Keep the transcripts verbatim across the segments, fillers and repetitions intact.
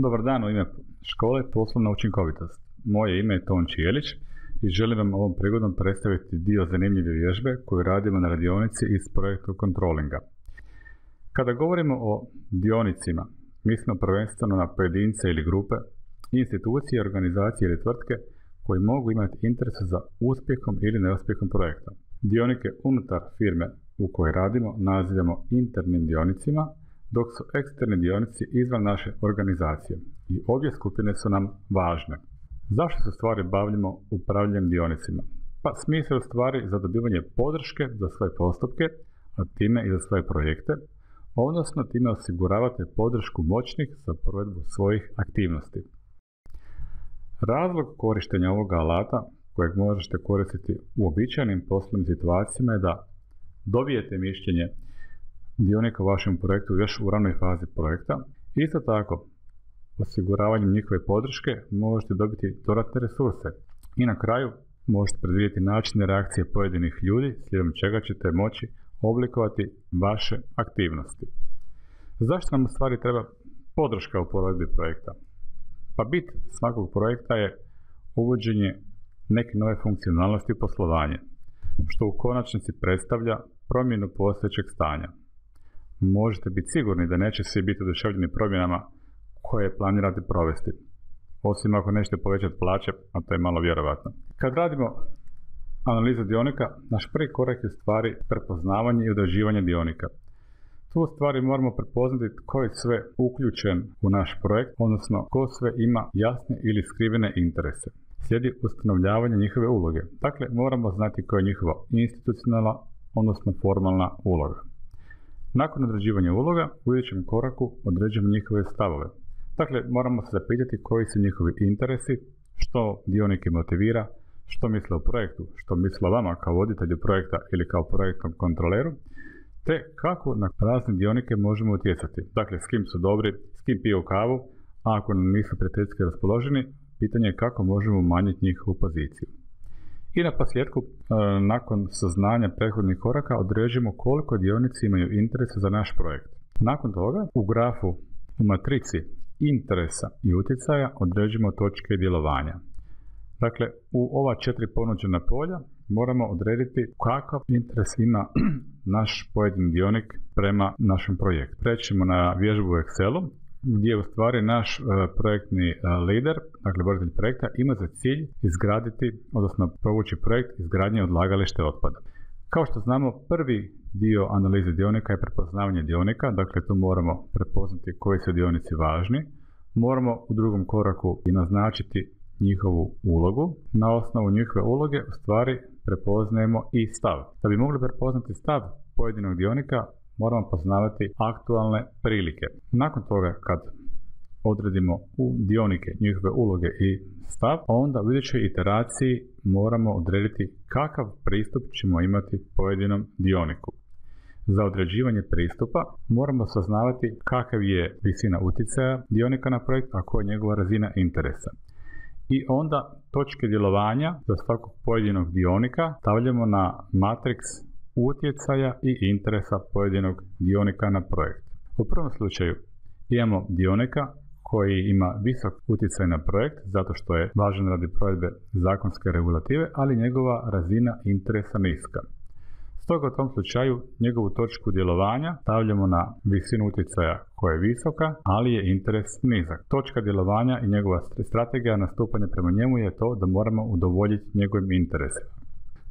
Dobar dan, u ime škole Poslovna učinkovitost. Moje ime je Ton Čijelić i želim vam ovom prigodom predstaviti dio zanimljive vježbe koju radimo na radionici iz projekta kontrolinga. Kada govorimo o dionicima, mislimo prvenstveno na pojedince ili grupe, institucije, organizacije ili tvrtke koji mogu imati interes za uspjehom ili neuspjehom projekta. Dionike unutar firme u kojoj radimo nazivamo internim dionicima, dok su eksterni dionici izvan naše organizacije i obje skupine su nam važne. Zašto se stvari bavimo upravljanjem dionicima? Pa smisao je stvari za dobivanje podrške za svoje postupke, a time i za svoje projekte, odnosno time osiguravate podršku moćnih za provedbu svojih aktivnosti. Razlog korištenja ovoga alata, kojeg možete koristiti u uobičajenim poslovnim situacijama, je da dobijete mišljenje dionika u vašem projektu još u ranoj fazi projekta. Isto tako, osiguravanjem njihove podrške možete dobiti dodatne resurse i na kraju možete predvidjeti načine reakcije pojedinih ljudi slijedom čega ćete moći oblikovati vaše aktivnosti. Zašto nam u stvari treba podrška u provedbi projekta? Pa bit svakog projekta je uvođenje neke nove funkcionalnosti u poslovanje, što u konačnici predstavlja promjenu postojećeg stanja. Možete biti sigurni da neće svi biti oduševljeni promjenama koje planirate provesti, osim ako nećete povećati plaće, a to je malo vjerovatno. Kad radimo analizu dionika, naš prvi korak je stvari prepoznavanje i određivanje dionika. Tu stvari moramo prepoznati tko je sve uključen u naš projekt, odnosno tko sve ima jasne ili skrivene interese. Slijedi ustanovljavanje njihove uloge. Dakle, moramo znati koja je njihova institucionalna, odnosno formalna uloga. Nakon određivanja uloga, u idućem koraku određujemo njihove stavove. Dakle, moramo se zapitati koji su njihovi interesi, što dionike motivira, što misle o projektu, što misle o vama kao voditelju projekta ili kao projektnom kontroleru, te kako na razne dionike možemo utjecati. Dakle, s kim su dobri, s kim piju kavu, a ako nam nisu prijateljski raspoloženi, pitanje je kako možemo umanjiti njihovu poziciju. I na posljedku, nakon saznanja prethodnih koraka, određujemo koliko dionici imaju interesa za naš projekt. Nakon toga, u grafu u matrici interesa i utjecaja određujemo točke djelovanja. Dakle, u ova četiri ponuđena polja moramo odrediti kakav interes ima naš pojedini dionik prema našem projektu. Prećemo na vježbu u Excelu, gdje u stvari naš uh, projektni uh, lider, dakle voditelj projekta, ima za cilj izgraditi, odnosno provući projekt izgradnje odlagalište otpada. Kao što znamo, prvi dio analize dionika je prepoznavanje dionika, dakle tu moramo prepoznati koji su dionici važni. Moramo u drugom koraku i naznačiti njihovu ulogu. Na osnovu njihove uloge u stvari prepoznajemo i stav. Da bi mogli prepoznati stav pojedinog dionika, moramo poznavati aktualne prilike. Nakon toga, kad odredimo u dionike, njihove uloge i stav, onda u idućoj iteraciji moramo odrediti kakav pristup ćemo imati pojedinom dioniku. Za određivanje pristupa moramo saznavati kakav je visina utjecaja dionika na projekt, a koja je njegova razina interesa. I onda točke djelovanja za svakog pojedinog dionika stavljamo na matriks utjecaja i interesa pojedinog dionika na projekt. U prvom slučaju imamo dionika koji ima visok utjecaj na projekt zato što je važan radi provedbe zakonske regulative, ali njegova razina interesa niska. Stoga u tom slučaju njegovu točku djelovanja stavljamo na visinu utjecaja koja je visoka, ali je interes nizak. Točka djelovanja i njegova strategija nastupanja prema njemu je to da moramo udovoljiti njegovim interesima.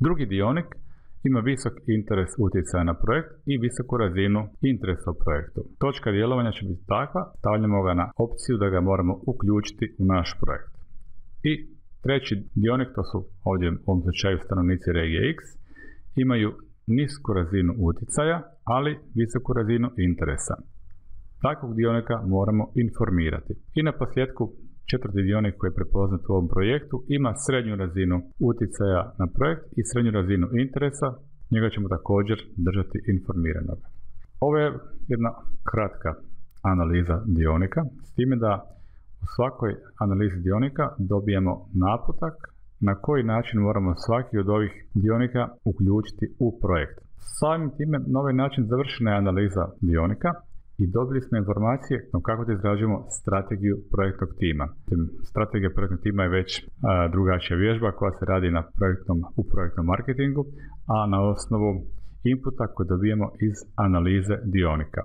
Drugi dionik ima visok interes utjecaja na projekt i visoku razinu interesa u projektu. Točka djelovanja će biti takva, stavljamo ga na opciju da ga moramo uključiti u naš projekt. I treći dionik, to su ovdje u ovom slučaju stanovnici regije X, imaju nisku razinu utjecaja, ali visoku razinu interesa. Takvog dionika moramo informirati. I na posljedku, četvrti dionik koji je prepoznat u ovom projektu ima srednju razinu utjecaja na projekt i srednju razinu interesa, njega ćemo također držati informiranog. Ovo je jedna kratka analiza dionika, s time da u svakoj analizi dionika dobijemo naputak na koji način moramo svaki od ovih dionika uključiti u projekt. Samim time, na ovaj način završena je analiza dionika i dobili smo informacije no kako da izrađujemo strategiju projektnog tima. Strategija projektnog tima je već a, drugačija vježba koja se radi na projektnom, u projektnom marketingu, a na osnovu inputa koji dobijemo iz analize dionika.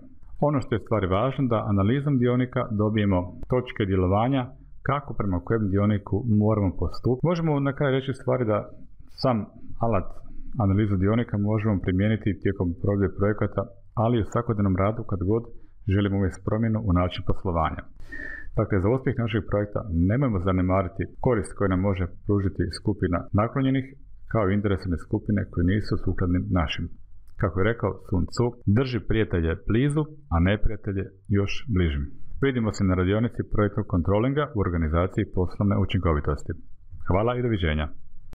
Ono što je stvari važno da analizom dionika dobijemo točke djelovanja kako prema kojem dioniku moramo postupiti. Možemo na kraju reći stvari da sam alat analizu dionika možemo primijeniti tijekom provedbe projekata, ali u svakodnevnom radu kad god želimo uvesti promjenu u način poslovanja. Dakle, za uspjeh našeg projekta nemojmo zanemariti korist koju nam može pružiti skupina naklonjenih kao i interesne skupine koje nisu sukladne našim. Kako je rekao Sun Tzu, drži prijatelje blizu, a neprijatelje još bližim. Vidimo se na radionici projektnog kontrolinga u organizaciji poslovne učinkovitosti. Hvala i doviđenja.